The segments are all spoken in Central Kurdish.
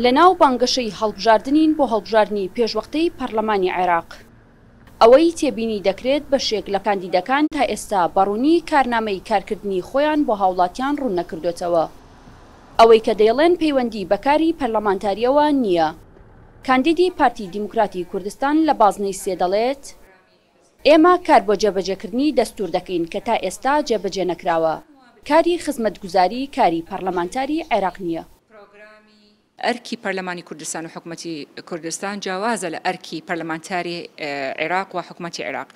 لەناو بانگەشەی هەڵبژاردنین بۆ هەڵبژاردنی پێشوەختەی پەرلەمانی عێراق. ئەوەی تێبینی دەکرێت بەشێک لە کاندیدەکان تا ئێستا بە ڕوونی کارنامەی کارکردنی خۆیان بۆ هاوڵاتیان ڕوون نەکردۆتەوە. ئەوەی کە دەیڵێن پەیوەندی بە کاری پەرلەمانتارییەوە نییە. کاندیدی پارتی دیموکراتی کوردستان لە بازنەی سێ دەڵێت، ئێمە کار بۆ جێبەجێکردنی دەستوور دەکەین کە تا ئێستا جێبەجێ نەکراوە. کاری خزمەتگوزاری کاری پەرلەمانتاری عێراق نییە. ئەرکی پەرلەمانی کوردستان و حکومەتی کوردستان جیاوازە لە ئەرکی پەرلەمانتاری عێراق و حکومەتی عێراق.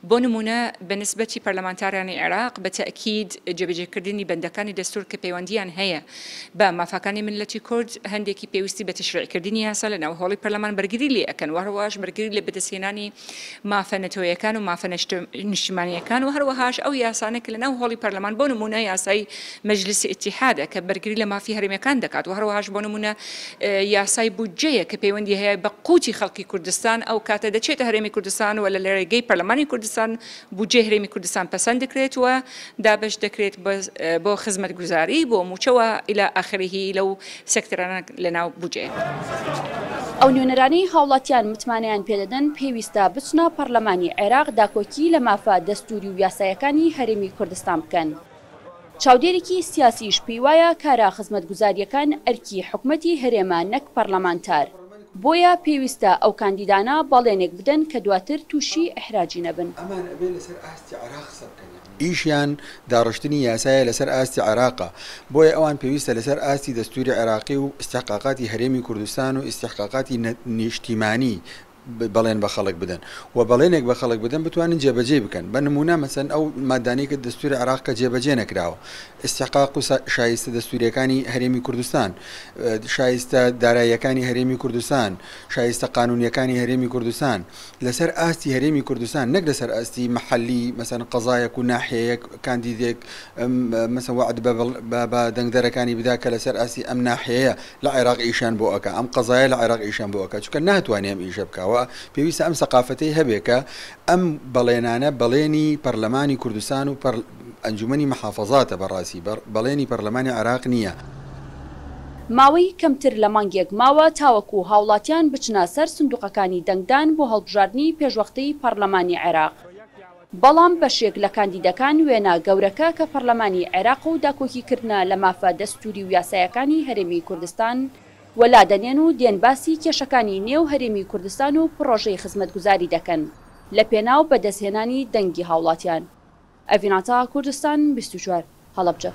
بۆ نموونە بە نسبەتی پەرلەمانتارانی عێراق بە تەئکید جێبەجێکردنی بەندەکانی دەستوور کە پەیوەندییان هەیە بە مافاکانی میللەتی کورد هەندێکی پێویستی بە تەشریعکردنی یاسا لە ناو هۆڵی پەرلەمان بەرگری لێ ئەکەن و هەروەهاش بەرگری لە بەدەستهێنانی مافە نەتەوەیەکان و مافە نیشتیمانییەکان و هەروەهاش ئەو یاسانە کە لە ناو هۆڵی پەرلەمان بۆ نموونە یاسای مەجلیسی ئیتیحادە کە بەرگری لە مافی هەرێمیەکان دەکات و هەروەهاش بۆ نموونە یاسای بودجەیە کە پەیوەندی هەیە بە قوتی خەڵکی کوردستان ئەو کاتە دەچێتە هەرێمی کوردستان و لە رێگەی پەرلەمانی کوردستان بودجەی هەرێمی کوردستان پەسەند دەکرێت و دابەش دەکرێت بۆ خزمەتگوزاری بۆ مووچە و الی آخره لەو سێکتەرانە لەناو بودجەیە. ئەو نوێنەرانەی هاوڵاتیان متمانەیان پێدەدەن پێویستە بچنە پەڕلەمانی عێراق داکۆکی لە مافە دەستوری و یاسایەکانی هەرێمی کوردستان بکەن. چاودێرێکی سیاسیش پێیوایە کارە خزمەتگوزارییەکان ئەرکی حکومەتی هەرێمە نەک پەڕلەمانتار، بۆیە پێویستە ئەو کاندیدانە بەڵێنێک بدەن کە دواتر تووشی ئیحراجی نەبن. ئەمان ئەبێ لەسەر ئاستی عێراق قسە بکەن یەعنی ئیشیان داڕشتنی یاسایە لەسەر ئاستی عێراقە بۆیە ئەوان پێویستە لەسەر ئاستی دەستوری عێراقی و ئیستحقاقاتی هەرێمی کوردستان و ئیستحقاقاتی نیشتیمانی بەڵێن بە خەڵک بدەن و بەڵێنێک بە خەڵک بدەن بتوانن جێبەجێی بکەن بە نموونە مەسەن ئەو مادانەی کە دەستوری عێراق کە جێبەجێ نەکراوە ئیستحقاق و شایستە دەستوریەکانی هەرێمی کوردستان شایستە داراییەکانی هەرێمی کوردستان شایستە قانونیەکانی هەرێمی کوردستان لەسەر ئاستی هەرێمی کوردستان نەک لەسەر ئاستی مەحەلی مەسەن قەزایەک و ناحیەیەک کاندیدێک مەسەن وەعد بە دەنگدەرەکانی بدا کە لەسەر ئاستی ئەم ناحیەیە لە عێراق ئیشیان بۆ ئەکا ئەم قەزایە لە عێراق ئیشیان بۆ ئەکا چونکە ناتوانێ ئەم ئیشە بکا و پێویستە ئەم سەقافەتەی هەبێ کە ئەم بەڵێنانە بەڵێنی پەرلەمانی کوردستان و ئەنجومەنی محافەزاتە بەڕاستی بەڵێنی پەرلەمانی عێراق نییە. ماوەی کەمتر لە مانگێک ماوە تاوەکو هاوڵاتیان بچنە سەر سندوقەکانی دەنگدان بۆ هەڵبژاردنی پێشوەختەی پەڕلەمانی عێراق، بەڵام بەشێک لە کاندیدەکان وێنە گەورەکە کە پەڕلەمانی عێراقە و داکۆکیکردنە لە مافە دەستوری و یاسایەکانی هەرێمی کوردستان وەلا دەنێن و دێن باسی کێشەکانی نێو هەرێمی کوردستان و پڕۆژەی خزمەتگوزاری دەکەن لەپێناو بەدەستهێنانی دەنگی هاوڵاتیان. ئەڤین عەتا، کوردستان 24، هەڵەبجە.